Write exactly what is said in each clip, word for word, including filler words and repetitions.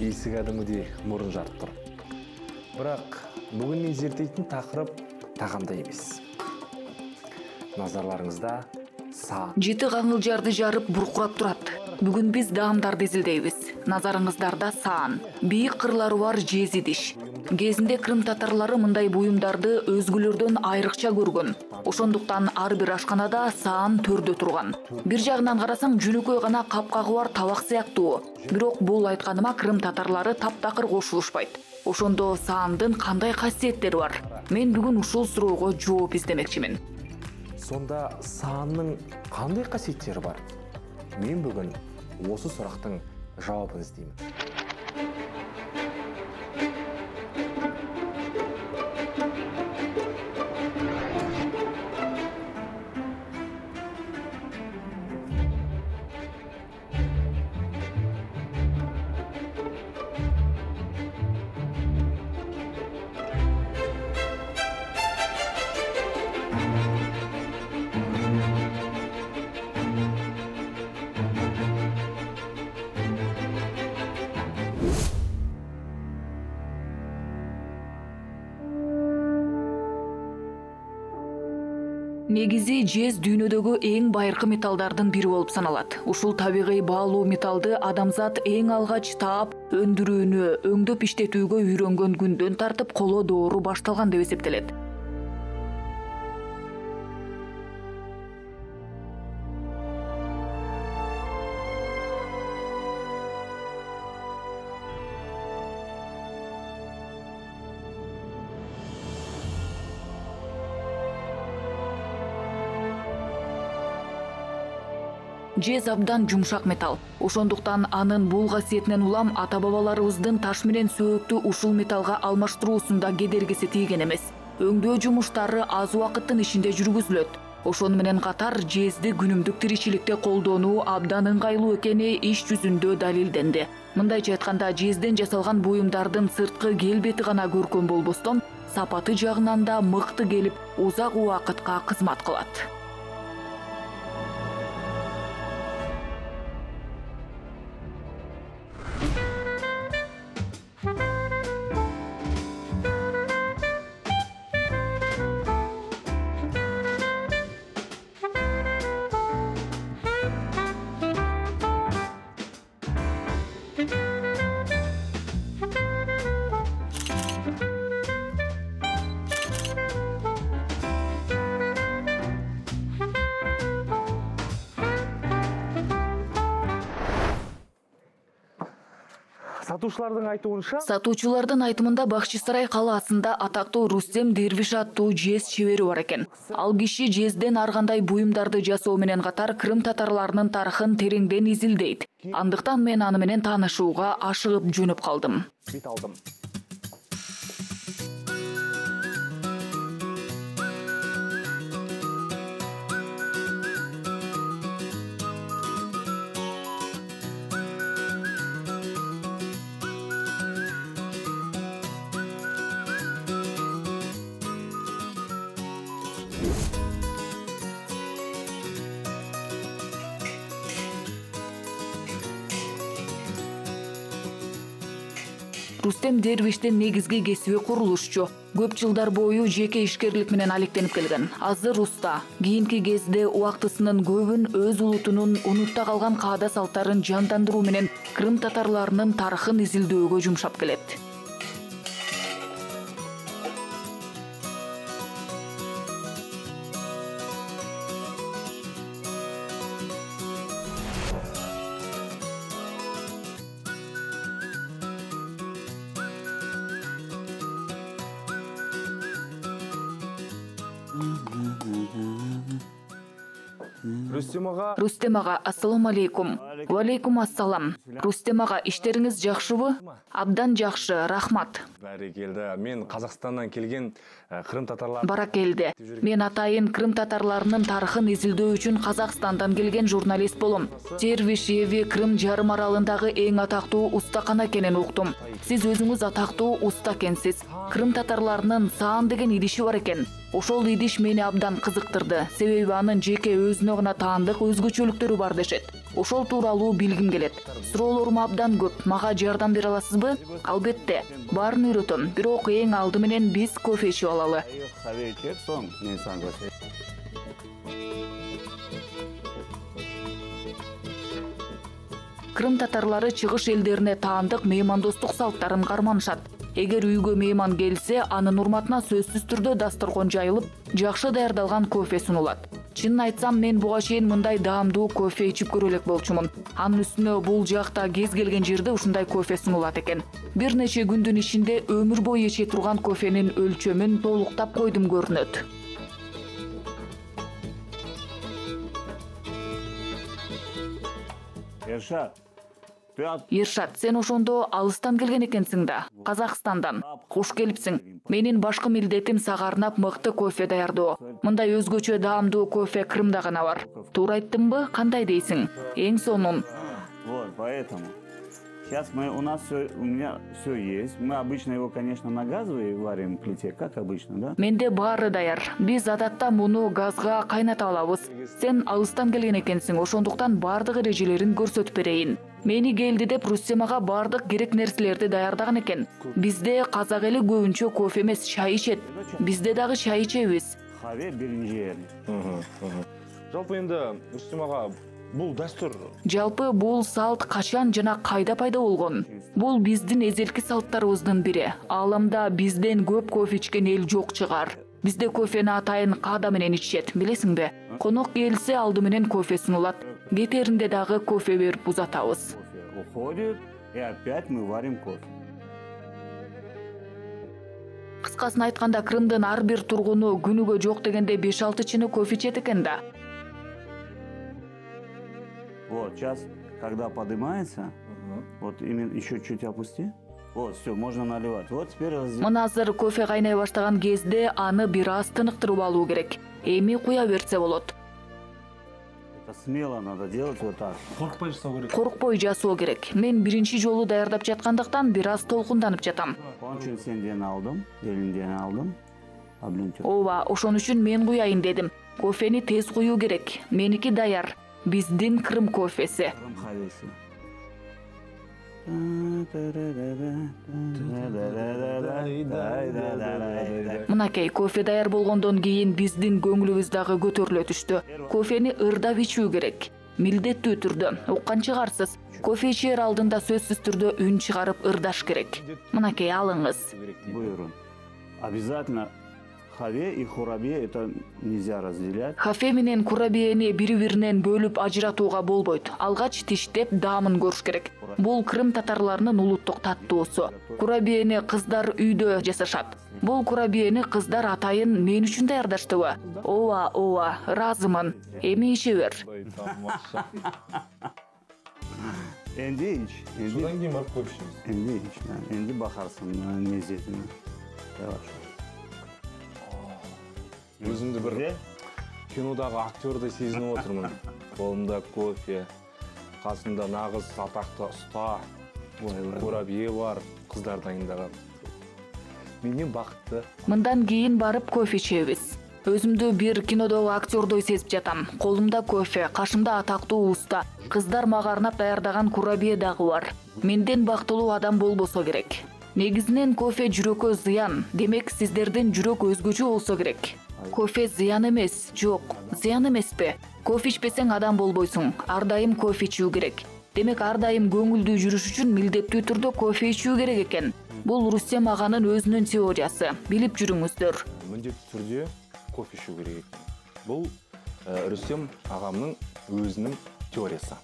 эси кадимгидей мурун жарып тур. Бирок бүгүн мен зерттейтин такырып тагамда эмес. Назарларыңызда саан. Жети каңылжарды жарып буркурап турат. Бүгүн биз даамдарды изилдейбиз. Назарыңыздарда саан. Бийик кырлары бар жез идиш. Кезинде Крым татарлары мындай буюмдарды өзгөлөрдөн айрыкча көргөн. Ошондуктан ар бир ашканада саан төрдө турган. Бир жагынан карасаң жөнөкөй гана капкагы бар табак сыяктуу. Бирок бул айтканыма Крым татарлары таптакыр кошулушпайт. Ошондо саандын кандай касиеттери бар? Мен бүгүн ушул суроого жооп издемекчимин. Сонда саанның кандай касиеттери бар? Мен бүгүн осы сурактын жаабын издеймин. Негизи жез дүйнөдөгү эң байыркы металлдардын бири болуп саналат. Ушул табигый баалуу металлды адамзат эң алгач таап, өндүрүүнү, өңдөп иштетүүгө үйрөнгөн күндөн тартып коло доору башталган деп эсептелет. Жез абдан жумшак металл. Ошондуктан анын бул касиетинен улам ата-бабаларыбыздын таш менен сөөктү ушул металлга алмаштыруусунда кедергиси тийген эмес. Өңдөө жумуштары аз убакыттын ичинде жүргүзүлөт. Ошону менен катар жезди күнүмдүк тиричиликте колдонуу абдан ыңгайлуу экени иш жүзүндө далилденди. Мындайча айтканда, жезден жасалган буюмдардын сырткы келбети гана көркөм болбостон, сапаты жагынан да мыкты келип, узак убакытка кызмат кылат. Сатуучулардын айтуунча, Сатуучулардын айтымында Бакчысарай калаасында атактуу Рустем Дервиш аттуу жез чебери бар экен. Ал киши жезден ар кандай буюмдарды жасоо менен катар Крым татарларынын тарыхын тереңден изилдейт. Андыктан мен аны менен таанышууга ашыгып жөнөп калдым. бет алдым. Рустем Дервиштин негизги кесиби курулушчу. Көп жылдар бою жеке ишкерлик менен алектенип келген. Азыр уста. Кийинки кезде убактысынын көбүн өз улутунун унутта калган каада салттарын жандандыруу менен Крым татарларынын тарыхын изилдөөгө жумшап келет. Рустем ага. Рустем ага, ассаламу алейкум. Ва алейкум ассалам. Рустем ага, иштериңиз жакшыбы? Абдан жакшы, рахмат. Баракелде. Мен Казакстандан келген Крым татарлар. Баракелде. Мен атайын Крым татарларынын тарыхын изилдөө үчүн Казакстандан келген журналист болом. Дервиш эви Крым жарым аралындагы эң атактуу устакана экенин уктум. Сиз өзүңүз атактуу уста экенсиз. Крым татарларынын саан деген идиши бар экен. Ошол идиш мени абдан кызыктырды, себеби анын жеке өзүнө гана таандык өзгөчөлүктөрү бар дешет. Ошол тууралуу билгим келет. Суроолорум абдан көп. Мага жардам бере аласызбы? Албетте, баарын үйрөтөм. Бирок эң алды менен биз кофе ичип алалы. Kahve içer son ne sanıyorsun? Крым татарлары чыгыш элдерине таандык меймандостук салттарын карманышат. Эгер үйгө мейман келсе, анын урматына сөзсүз түрдө дасторкон жайылып, жакшы даярдалган кофе сунулат. Чынын айтсам, мен буга чейин мындай даамдуу кофе ичип көрө элек болчумун. Анын үстүнө бул жакта кез келген жерде ушундай кофе сунулат экен. Бир нече күндүн ичинде өмүр бою иче турган кофенин өлчөмүн толуктап койдум көрүнөт. Erşat. Ершат, сен ошондо алыстан келген экенсиң да, Казакстандан. Куш келипсиң. Менин башкы милдетим сага арнап мыкты кофе даярдоо. Мындай өзгөчө даамдуу кофе Крымда гана бар. Туура айттымбы? Кандай дейсиң? Эң сонун. Вот, поэтому. Сейчас мы, у нас все, у меня все есть. Мы обычно его, конечно, на газовой варим плите, как обычно, да? Менде баары даяр. Биз адатта муну газга кайната алабыз. Сен алыстан келген экенсиң, ошондуктан баардык эрежелерин көрсөтүп берейин. Мени келди деп Рустемага баардык керек нерселерди даярдаган экен. Бизде казак эли көбүнчө кофе эмес, чай ичет. Бизде дагы чай ичебиз. Kahve birinci yer. Жалпы енді Рустем аға, бул дастур. Жалпы бул салт качан жана кайда пайда болгон? Бул биздин эзелки салттарыбыздын бири. Ааламда бизден көп кофе ичкен эл жок чыгар. Бизде кофени атайын каада менен ичет, билесиңби? Конок келсе алды менен кофе сунулат. Кетеринде дагы кофе берип узатабыз. Кофе уходит, и опять мы варим кофе. Кыскасын айтканда, Крымдын ар бир тургуну күнүгө жок дегенде беш алты чыны кофе ичет экен да. Вот, сейчас, когда поднимается, вот именно еще чуть опусти. Вот, все, можно наливать. Вот теперь раздел. Мына азыр кофе кайнай баштаган кезде аны бир аз тыныктырып алуу керек. Эми куя берсе болот. Это смело надо делать вот так. Коркпой жасоо керек. Коркпой жасоо керек. Мен биринчи жолу даярдап жаткандыктан бир аз толкунданып жатам. Onun için senden aldım, elinden aldım. Ablentür. Ооба, ошон үчүн мен куяйын дедим. Кофени тез куюу керек. Меники даяр. Биздин Крым кофеси. Крым kahvesi. Мынакей, кофе даяр болгондон кийин биздин көңүлүбүз дагы көтөрүлө түштү. Кофени ырдап ичүү керек. Милдеттүү түрдө. Уккан чыгарсыз. Кофе ичер алдында сөзсүз түрдө үн чыгарып ырдаш керек. Мынакей, алыңыз. Buyurun. Обязательно хаве и хурабе это нельзя разделять. Хафе менен курабиени бири-биринен бөлүп ажыратууга болбойт. Алгач тиштеп даамын көрүш керек. Бул Крым татарларынын улуттук таттуусу. Курабиени кыздар үйдө жасашат. Бул курабиени кыздар атайын мен үчүн даярдаштыбы? Ооба, ооба, ыраазымын. Эми иче бер. Endi iç. Endi, Содан кейін барып кофе ішеміз. endi iç. Yani. Endi bakarsın mezzetine. Yavaş. Өзімді бір кинодағы актерді сезініп отырмын. Қолымда кофе, қасымда нағыз атақты ұста, курабие бар, қыздар дайындаған. Менен бақытты. Мындан кийин барып кофе ичебиз. Өзүмдү бир кинодогу актердой сезип жатам. Колумда кофе, кашымда атактуу уста, кыздар мага арнап даярдаган курабие дагы бар. Менден бактылуу адам болбосо керек. Негизинен кофе жүрөккө зыян. Демек, сиздердин жүрөк өзгөчө болсо керек. Кофе зыян эмес, жок, зыян эмеспи? Кофе ичпесең адам болбойсуң. Ар дайым кофе ичүү керек. Демек, ар дайым көңүлдүү жүрүш үчүн милдеттүү түрдө кофе ичүү керек экен. Бул Рустем аганын өзүнүн теориясы. Билип жүрүңүздөр. Міндетті түрде кофе ішу керек екен. Бұл Рустем ағамның өзінің теориясы.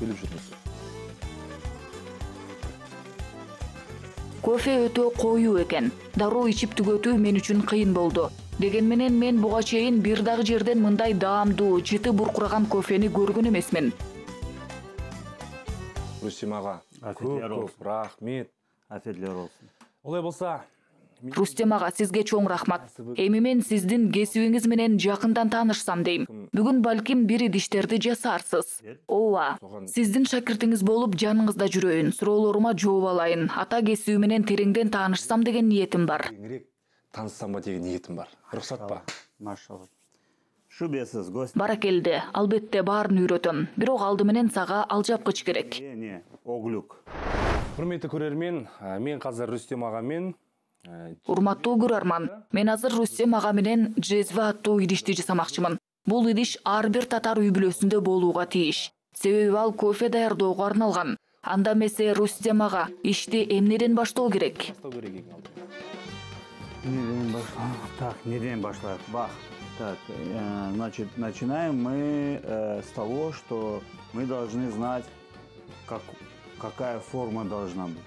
Біліп жүріңіздер. Кофе өтө коюу экен. Дароо ичип түгөтүү мен үчүн кыйын болду. Деген менен мен буга чейин бир дагы жерден мындай даамдуу, жыты буркураган кофени көргөн эмесмин. Рустем аға, көп-көп рахмет. Afiyetler olsun. Олай болса, Рустем ага, сизге чоң рахмат. Эми мен сиздин кесибиңиз менен жакындан таанышсам дейм. Бүгүн балким бир идиштерди жасарсыз. Ооба, сиздин шакиртиңиз болуп жаныңызда жүрөйүн, суроолорума жооп алайын, ата кесиби менен тереңден таанышсам деген ниетим бар. кеңирек тааныссамбы деген ниетим бар. Уруксат ба? Машалла. Шубесиз гость. Баракелде, албетте баарын үйрөтөм. Бирок алды менен сага алжапкыч керек. Не, не, оглюк. Урматтуу көрөрмен, мен азыр Рустем ага мен Урматтуу көрөрман, мен азыр Рустем ага менен джезве аттуу идишти жасамакчымын. Бул идиш ар бир татар үй бүлөсүндө болууга тийиш. Себеби ал кофе даярдоого арналган. Анда эмесе Рустем ага ишти эмнеден баштоо керек? Неден башлайық? Так, неден башлайық? Бах. Так, э, значит, начинаем мы э, с того, что мы должны знать, как, какая форма должна быть.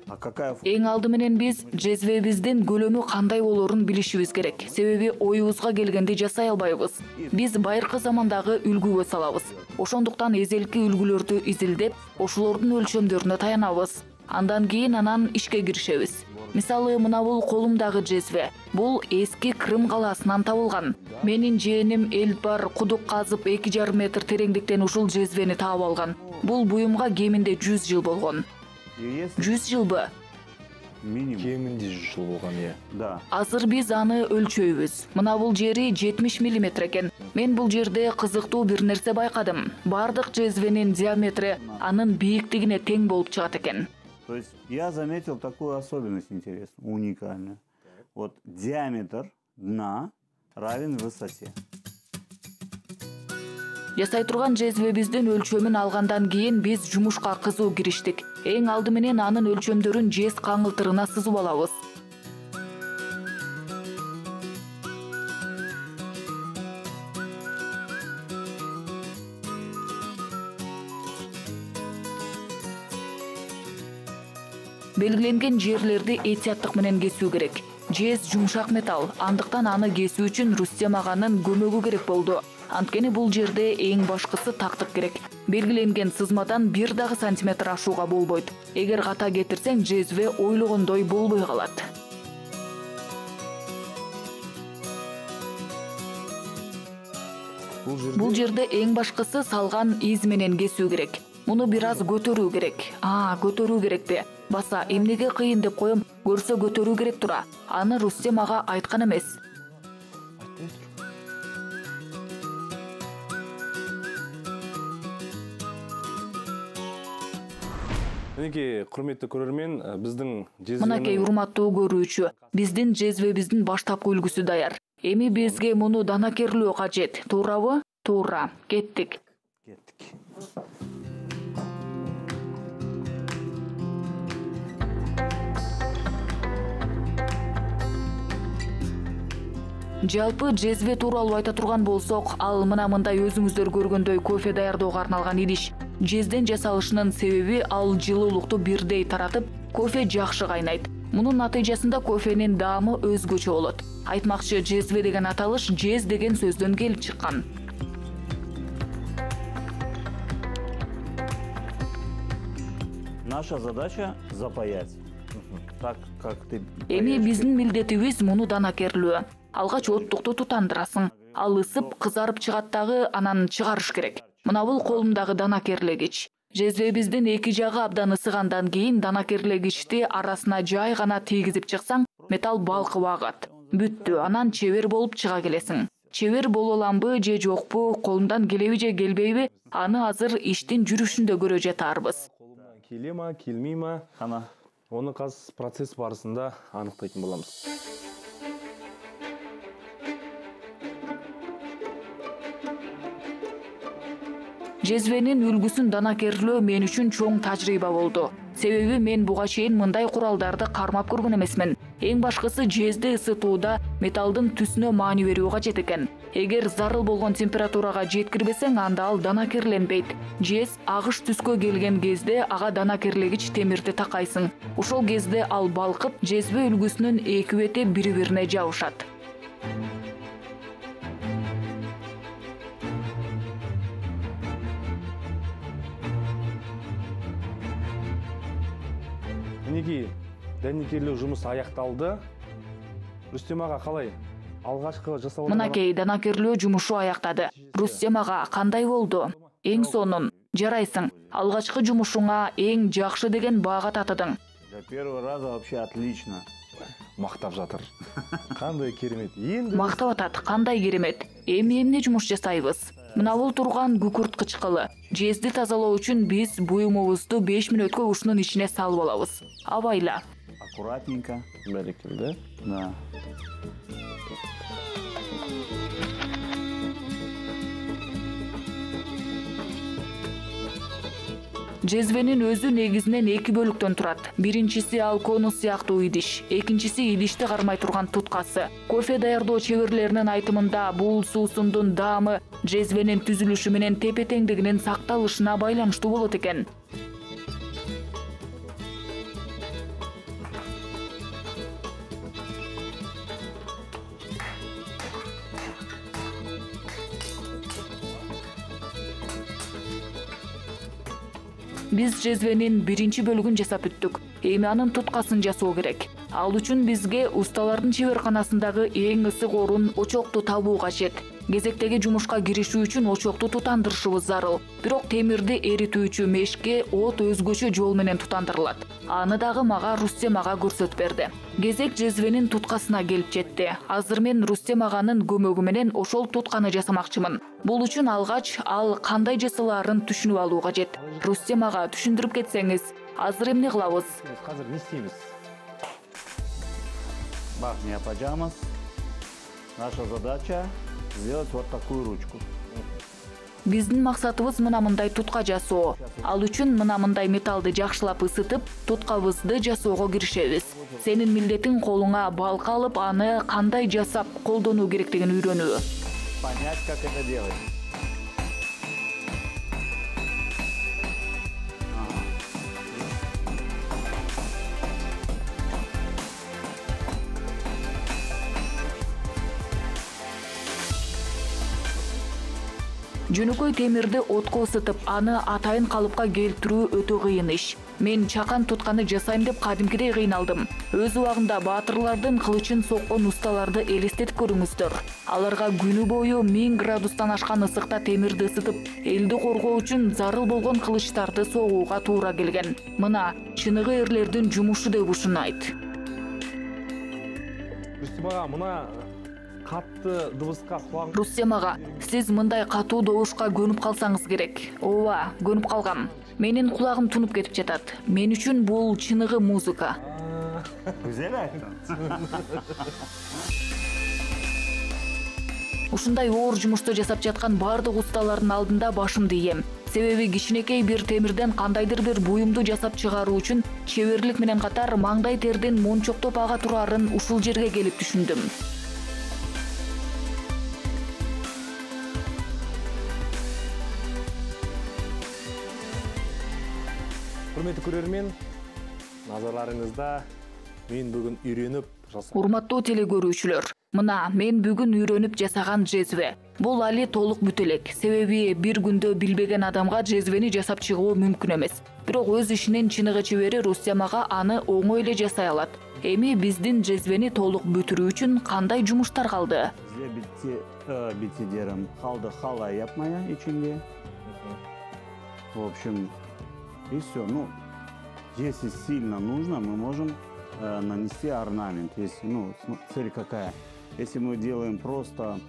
А какая форма? Эң алды менен биз джезвебиздин көлөмү кандай болорун билишибиз керек. Себеби оюбузга келгенде жасай албайбыз. Биз байыркы замандагы үлгүгө салабыз. Ошондуктан эзелки үлгүлөрдү изилдеп, ошолордун өлчөмдөрүнө таянабыз. Андан кийин анан ишке киришебиз. Мисалы, мына бул колумдагы джезве. Бул эски Крым калаасынан табылган. Менин жээним Элдбар кудук казып эки жарым метр тереңдиктен ушул джезвени таап алган. Бул буюмга кеминде жүз жыл болгон. жүз жылбы? Минимум. Кеминде жүз жыл болгон, э. Да. Азыр биз аны өлчөйбүз. Мына бул жери жетимиш миллиметр экен. Мен бул жерде кызыктуу бир нерсе байкадым. Бардык джезвенин диаметри анын бийиктигине тең болуп чыгат экен. То есть я заметил такую особенность интересную, уникальную. Вот диаметр дна равен высоте. Жасай турган джезвебиздин өлчөмүн алгандан кийин биз жумушка кызуу кириштик. Эң алды менен анын өлчөмдөрүн жез каңылтырына сызып алабыз. Белгиленген жерлерди этияттык менен кесүү керек. Жез жумшак металл, андыктан аны кесүү үчүн Рустем аганын көмөгү керек болду. Анткени бул жерде эң башкысы тактык керек. Белгиленген сызмадан бир дагы сантиметр ашууга болбойт. Эгер ката кетирсең, джезве ойлогондой болбой калат. Бул жерде эң башкысы салган из менен кесүү керек. Муну бир аз көтөрүү керек. А, көтөрүү керекпи? Баса, эмнеге кыйын деп коем, көрсө көтөрүү керек тура. Аны Рустем ага айткан эмес. Энеки курметтүү көрөрмен, биздин джезве. Мынакей урматтуу көрүүчү, биздин джезвебиздин баштапкы үлгүсү даяр. Эми бизге муну данакерлөө кажет, туурабы? Туура. Кеттик. Кеттик. Жалпы джезве тууралуу айта турган болсок, ал мына мындай өзүңүздөр көргөндөй кофе даярдоого арналган идиш. Жезден жасалышынын себеби ал жылуулукту бирдей таратып, кофе жакшы кайнайт. Мунун натыйжасында кофенин даамы өзгөчө болот. Айтмакчы, джезве деген аталыш жез деген сөздөн келип чыккан. Наша задача запаять. Так, как ты... Эми биздин милдетибиз муну данакерлөө. Алгач оттукту тутандырасың. Ал ысып, кызарып чыгат дагы, анан чыгарыш керек. Мына бул колумдагы данакерлегич. Джезвебиздин эки жагы абдан ысыгандан кийин данакерлегичти арасына жай гана тийгизип чыксаң, металл балкып агат. Бүттү, анан чебер болуп чыга келесиң. Чебер боло аламбы же жокпу, колумдан келеби же келбейби, аны азыр иштин жүрүшүндө көрө жатарбыз. Колумдан келема, келмейма, Ана. оны каз процесс барысында аныктайтын боламыз. Джезвенин үлгүсүн данакерлөө мен үчүн чоң тажрыйба болду. Себеби мен буга чейин мындай куралдарды кармап көргөн эмесмин. Эң башкысы жезди ысытууда металлдын түсүнө маани берүү кажет экен. Эгер зарыл болгон температурага жеткирбесең, анда ал данакерленбейт. Жез агыш түскө келген кезде ага данакерлегич темирди такайсың. Ошол кезде ал балкып, жезбе үлгүсүнүн эки бети бири-бирине жабышат. Энеки данакерлөө жумушу аякталды. Рустем ага калай? Алгачкы жасалган. Мынакей данакерлөө жумушу аяктады. Рустем ага кандай болду? Эң сонун. Жарайсың. Алгачкы жумушуңа эң жакшы деген баага татыдың. Для первого раза вообще отлично. мактап жатыр. Кандай керемет. Енді Мактап атат, кандай керемет. Эми эмне жумуш жасайбыз? Мына бул турган күкүрт кычкылы. Жезди тазалоо үчүн биз буюмубузду беш мүнөткө ушунун ичине салып алабыз. Абайла. Аккуратненько. берекелде. Да. Жезвенин өзү негизинен эки бөлүктөн турат. Биринчиси ал конус сыяктуу идиш, экинчиси идишти кармай турган туткасы. Кофе даярдоо чеберлеринин айтымында бул суусундун даамы жезвенин түзүлүшү менен тепе-теңдигинин сакталышына байланыштуу болот экен. Биз жезвенин биринчи бөлүгүн жасап бүттүк. Эми анын туткасын жасоо керек. Ал үчүн бизге усталардын чеберканасындагы эң ысык орун очокту табуу кажет. Кезектеги жумушка киришүү үчүн очокту тутандырышыбыз зарыл. Бирок темирди эритүүчү мешке от өзгөчө жол менен тутандырылат. Аны дагы мага Рустем ага көрсөтүп берди. Кезек жезвенин туткасына келип жетти. Азыр мен Рустем аганын көмөгү менен ошол тутканы жасамакчымын. Бул үчүн алгач ал кандай жасалаарын түшүнүп алуу кажет. Рустем ага түшүндүрүп кетсеңиз, азыр эмне кылабыз? Азыр не истейбиз? Бах, не опаджамас. Наша задача сделать вот такую ручку. Биздин максатыбыз мына мындай тутка жасоо. Ал үчүн мына мындай металлды жакшылап ысытып, туткабызды жасоого киришебиз. Сенин милдетиң колуңа балка алып, аны кандай жасап колдонуу керектигин үйрөнүү. Понять, как это делать. Жөнөкөй темирди отко ысытып, аны атайын калыпка келтирүү өтө кыйын иш. Мен чакан тутканы жасайм деп кадимкидей кыйналдым. Өз убагында баатырлардын кылычын соккон усталарды элестетип көрүңүздөр. Аларга күнү бою миң градустан ашкан ысыкта темирди ысытып, элди коргоо үчүн зарыл болгон кылычтарды согууга туура келген. Мына чыныгы эрлердин жумушу деп ушунайт. Рустем ага, мына катты дыбыска кулагың. Рустем ага, сиз мындай катуу добушка көнүп калсаңыз керек. Ооба, көнүп калгам. Менин кулагым тунуп кетип жатат. Мен үчүн бул чыныгы музыка. Güzel ayттың. Ушундай оор жумушту жасап жаткан бардык усталардын алдында башымды ийем. Себеби кичинекей бир темирден кандайдыр бир буюмду жасап чыгаруу үчүн чеберлик менен катар маңдай тердин мончоктоп ага турарын ушул жерге келип түшүндүм. Урматтуу көрөрмөн, назарларыңызда мен бүгүн үйрөнүп жасаган. Урматтуу телекөрүүчүлөр, мына мен бүгүн үйрөнүп жасаган жезве. Бул али толук бүтө элек, себеби бир күндө билбеген адамга жезвени жасап чыгуу мүмкүн эмес. Бирок өз ишинин чыныгы чебери Рустем ага аны оңой эле жасай алат. Эми биздин жезвени толук бүтүрүү үчүн кандай жумуштар калды? Бизде битти, битти дерим, калды хала yapmaya içinde. В общем, и все. Ну, если сильно нужно, мы можем э, нанести орнамент. Если, ну, цель какая? Если мы делаем просто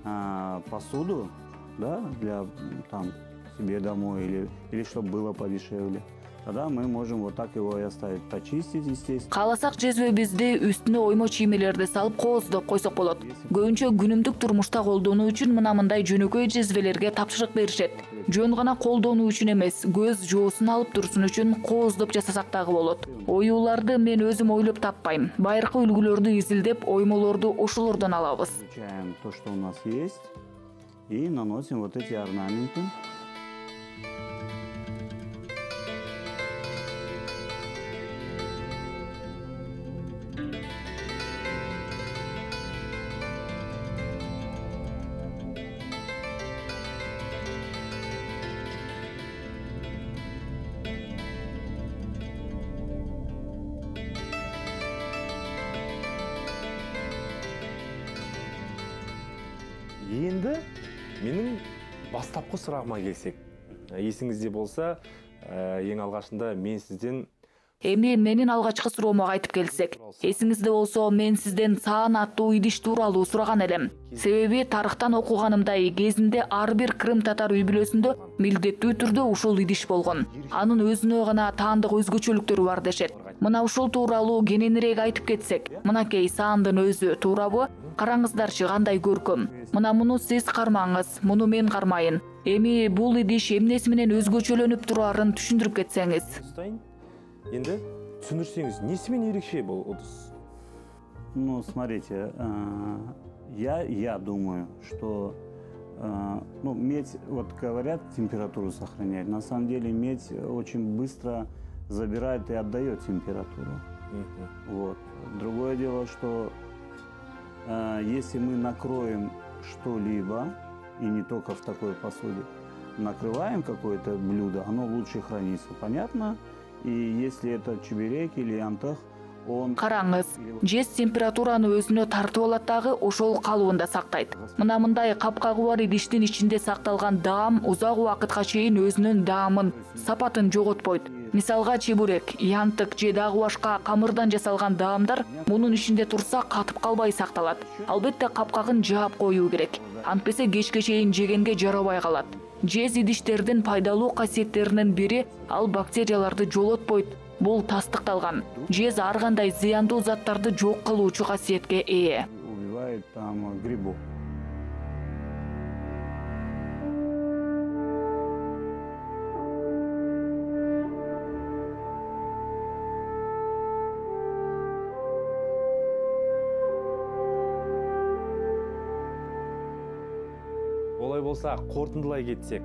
э, посуду, да, для там себе домой или или чтобы было подешевле, тогда мы можем вот так его и оставить, почистить, естественно. Кааласак жезвебизди үстүнө оймо чиймелерди салып кооздоп койсок болот. Көбүнчө күнүмдүк турмушта колдонуу үчүн мына мындай жөнөкөй жезвелерге тапшырык беришет. Жөн гана колдонуу үчүн эмес, көз жоосун алып турсун үчүн кооздоп жасасак дагы болот. Оюуларды мен өзүм ойлоп таппайм. Байыркы үлгүлөрдү изилдеп, оймолорду ошолордон алабыз. Изучаем то, что у нас есть, и наносим вот эти орнаменты. Енді менің бастапқы сұрағыма келсек, есіңізде болса, ең алғашында мен сізден Эми менин алгачкы суроомо кайтып келсек, эсиңизде болсо, мен сизден саан аттуу идиш тууралуу сураган элем. Себеби тарыхтан окуганымдай, кезинде ар бир крым татар үй бүлөсүндө милдеттүү түрдө ушул идиш болгон. Анын өзүнө гана таандык өзгөчөлүктөрү бар дешет. Мына ушул тууралуу кененирээк айтып кетсек, мынакей саандын өзү туурабы? Караңыздарчы кандай көркөм. Мына муну сиз кармаңыз, муну мен кармайын. Эми бул идиш эмнеси менен өзгөчөлөнүп турарын түшүндүрүп кетсеңиз. Енді түсіндірсеңіз, несімен ерекше бұл ыдыс? Ну, смотрите, я, я думаю, что ну, медь, вот говорят, температуру сохраняет. На самом деле медь очень быстро забирает и отдает температуру. Uh-huh. Вот. Другое дело, что если мы накроем что-либо, и не только в такой посуде, накрываем какое-то блюдо, оно лучше хранится. Понятно? И если это чебурек или антах, он... Караңыз, жез температураны өзүнө тартып алат дагы ошол калыбында сактайт. Мына мындай капкагы бар идиштин ичинде сакталган даам узак убакытка чейин өзүнүн даамын, сапатын жоготпойт. Мисалга чебурек, янтык же дагы башка камырдан жасалган даамдар мунун ичинде турса катып калбай сакталат. Албетте капкагын жаап коюу керек. Антпесе кечке чейин жегенге жарабай калат. Жез идиштердин пайдалуу касиеттеринин бири ал бактерияларды жолотпойт. Бул тастыкталган. Жез ар кандай зыяндуу заттарды жок кылуучу касиетке ээ. Убивает там грибов. Олай болса, қорытындылай кетсек,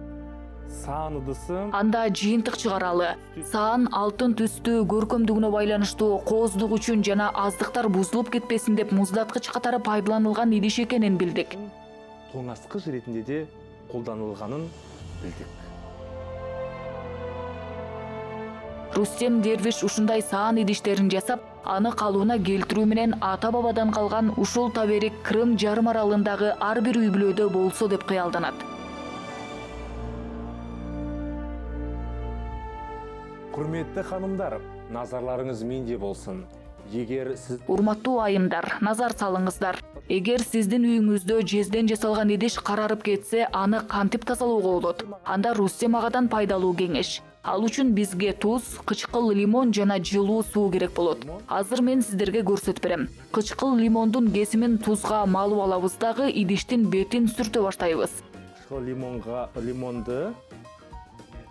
саан ыдысы... Анда жыйынтык чыгаралы. Саан алтын түстүү көркөмдүгүнө байланыштуу кооздук үчүн жана аздыктар бузулуп кетпесин деп муздаткыч катары пайдаланылган идиш экенин билдик. Тоңазткыч ретинде де колдонулганын билдик. Рустем Дервиш ушундай саан идиштерин жасап, аны калыбына келтирүү менен ата-бабадан калган ушул таберик Крым жарым аралындагы ар бир үй бүлөдө болсо деп кыялданат. Құрметті ханымдар, назарларыңыз менде болсын. Егер сіз... Урматтуу айымдар, назар салыңыздар. Эгер сиздин үйүңүздө жезден жасалган идиш карарып кетсе, аны кантип тазалоого болот? Анда Рустем агадан пайдалуу кеңеш. Ал үчүн бизге туз, кычкыл лимон жана жылуу суу керек болот. Азыр мен сиздерге көрсөтүп берем. Кычкыл лимондун кесимин тузга малып алабыз дагы идиштин бетин сүртө баштайбыз. Кычкыл лимонга лимонду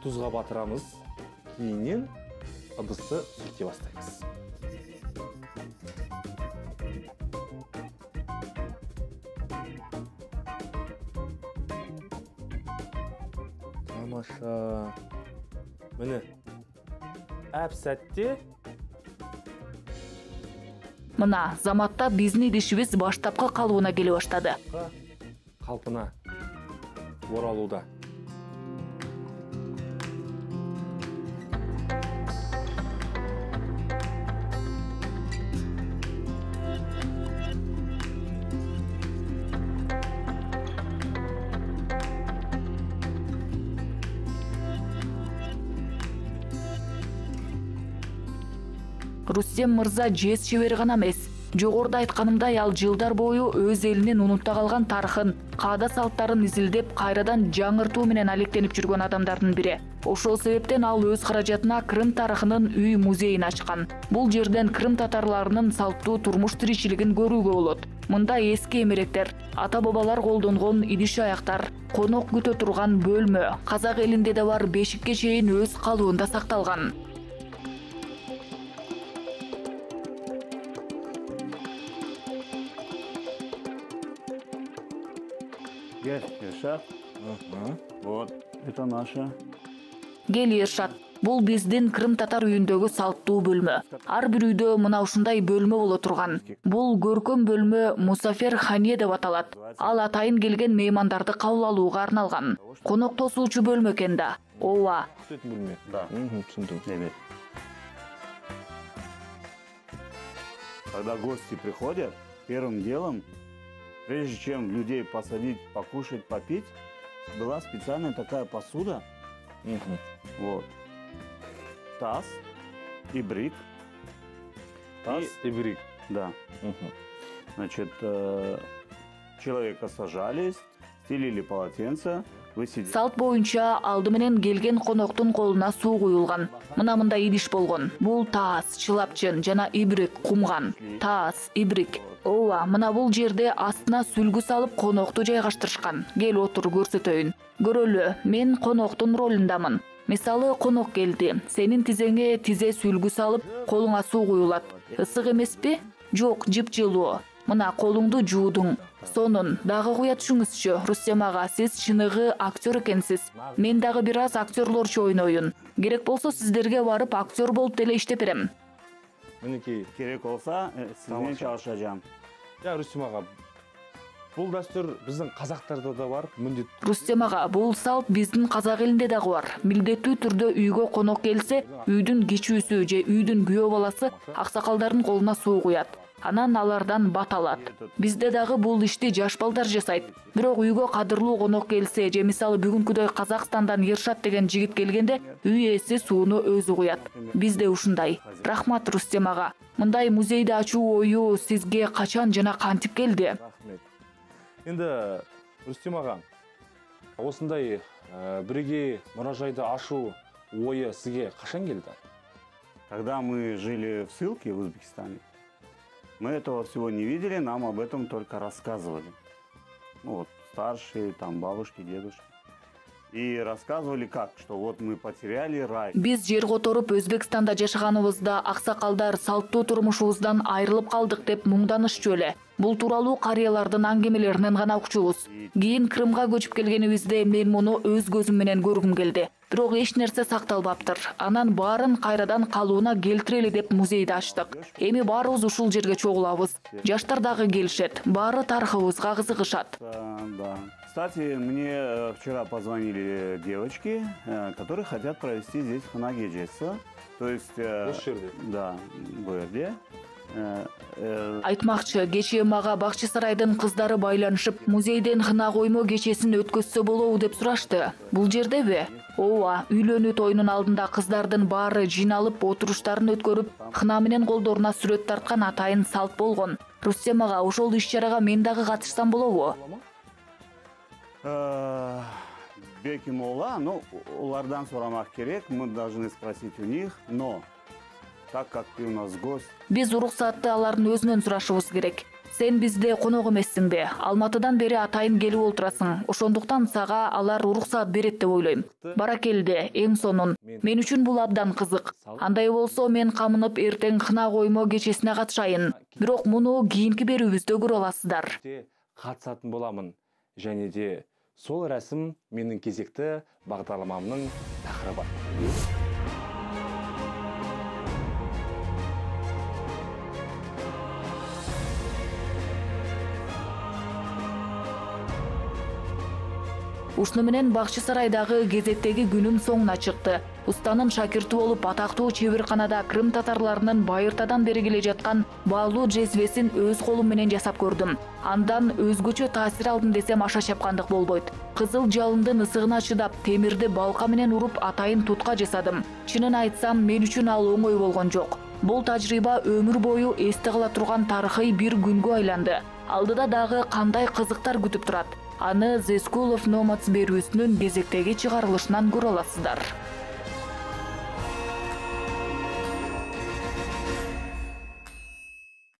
тузга батырамыз. Кийинен ыдысты сүрте баштайбыз. Тамаша. Міне, әп сәтте... Мына, заматта биздин идишибиз баштапкы калыбына келе баштады. Калпына оралууда. Рустем мырза жез чебери гана эмес. Жогоруда айтканымдай, ал жылдар бою өз элинин унутта калган тарыхын, каада салттарын изилдеп, кайрадан жаңыртуу менен алектенип жүргөн адамдардын бири. Ошол себептен ал өз каражатына Крым тарыхынын үй музейин ачкан. Бул жерден Крым татарларынын салттуу турмуш тиричилигин көрүүгө болот. Мында эски эмеректер, ата-бабалар колдонгон идиш аяктар, конок күтө турган бөлмө, казак элинде да бар бешикке чейин өз калыбында сакталган. Иршат. Вот, это наша. Кел Иршат, бул биздин Крым татар үйүндөгү салттуу бөлмө. Ар бир үйдө мына ушундай бөлмө боло турган. Бул көркөм бөлмө Мусафер хане деп аталат. Ал атайын келген меймандарды кабыл алууга арналган. Конок тосуучу бөлмө экен да. Ооба. Бөлмө. Да. Түшүндүм. Evet. Когда гости приходят, первым делом, прежде чем людей посадить, покушать, попить, была специальная такая посуда. Мгм. Вот. Таз ибрик. Таз, ибрик. Да. Мгм. Значит, э, человека сажали, стелили полотенце, вы сидите. Салт боюнча алды менен келген коноктун колуна суу куюлган. Мына мындай идиш болгон. Бул таз, чылапчын жана ибрик кумган. Таз, ибрик. Ооба, мына бул жерде астына сүлгү салып конокту жайгаштырышкан. Кел отур көрсөтөйүн. Көрөлү, мен коноктун ролундамын. Мисалы конок келди. Сенин тизеңе тизе сүлгү салып, колуңа суу куюлат. Ысык эмеспи? Жок, жыпжылуу. Мына колуңду жуудуң. Сонун дагы куя түшүңүзчү, Рустем ага, сиз чыныгы актер экенсиз. Мен дагы бир аз актерлорчу ойноюн. Керек болсо сиздерге барып актер болуп деле иштеп берем. Минекей. Керек болса, э, сизден Тамаша. чалышачам. Я, Рустем ага, бул дастур биздин казактарда да бар, мындет. Рустем ага, бул салт биздин казак элинде дагы бар. Милдеттүү түрдө үйгө конок келсе, үйдүн кичүүсү же үйдүн күйөө баласы аксакалдардын колуна суу куят. Анан алардан бат алат. Бизде дагы бул ишти жаш балдар жасайт. Бирок үйгө кадырлуу конок келсе, же мисалы бүгүнкүдөй Казакстандан Ершат деген жигит келгенде, үй ээси сууну өзү куят. Бизде ушундай. Рахмат, Рустем ага. Мындай музейди ачуу ою сизге качан жана кантип келди? Рахмет. Енді Рустем ага, осындай э, бирге муражайды ашу ойы сизге кашан келди? Когда мы жили в ссылке в Узбекистане, мы этого всего не видели, нам об этом только рассказывали. Ну вот, старшие, там, бабушки, дедушки. И рассказывали как, что вот мы потеряли рай. Биз жер которуп Өзбекстанда жашаганыбызда аксакалдар салттуу турмушубуздан айрылып калдык деп муңданышчу эле. Бул тууралуу карыялардын аңгемелеринен гана укчубуз. Кийин Крымга көчүп келгенибизде мен муну өз көзүм менен көргүм келди. Бирок эч нерсе сакталбаптыр. Анан баарын кайрадан калууна келтирели деп музейди ачтык. Эми баарыбыз ушул жерге чогулабыз. Жаштар дагы келишет. Баары тарыхыбызга кызыгышат. Да, да. Кстати, мне э, вчера позвонили девочки, э, которые хотят провести здесь хана кечеси. То есть... э, Осы жерде? Да, бу жерде. Э, э, Айтмакчы, кечээ мага Бакчы сарайдын кыздары байланышып, музейден хына коймо кечесин өткөзсө болобу деп сурашты. Бул жердеби? Ооба, үйлөнүү тоюнун алдында кыздардын баары жиналып отуруштарын өткөрүп, хына менен колдоруна сүрөт тарткан атайын салт болгон. Рустем ага, ошол иш-чарага мен дагы катышсам болобу? э, Беки Мола, ну, улардан сурамак керек, мы должны спросить у них, но так как ты у нас гость, Биз уруксатты алардын өзүнөн сурашыбыз керек. Сен бизде конок эмессиңби? Алматыдан бери атайын келип олтурасың. Ошондуктан сага алар уруксат берет деп ойлойм. Баракелде, эң сонун. Мен үчүн бул абдан кызык. Андай болсо мен камынып эртең хына коймо кечесине катышайын. Бирок муну кийинки берүүбүздө көрө аласыздар. Катышатын боламын. Және де сол рәсім менің кезекті бағдарламамның тақырыбы. Ушуну менен Бакчы сарайдагы кезеттеги күнүм соңуна чыкты. Устанын шакирти болуп атактуу чеберканада Крым татарларынын байыртадан бери келе жаткан баалуу джезвесин өз колум менен жасап көрдүм. Андан өзгөчө таасир алдым десем аша чапкандык болбойт. Кызыл жалындын ысыгына чыдап, темирди балка менен уруп атайын тутка жасадым. Чынын айтсам, мен үчүн ал оңой болгон жок. Бул тажрыйба өмүр бою эсте кала турган тарыхый бир күнгө айланды. Алдыда дагы кандай кызыктар күтүп турат? Аны The School of Nomads берүүсүнүн кезектеги чыгарылышынан көрө аласыздар.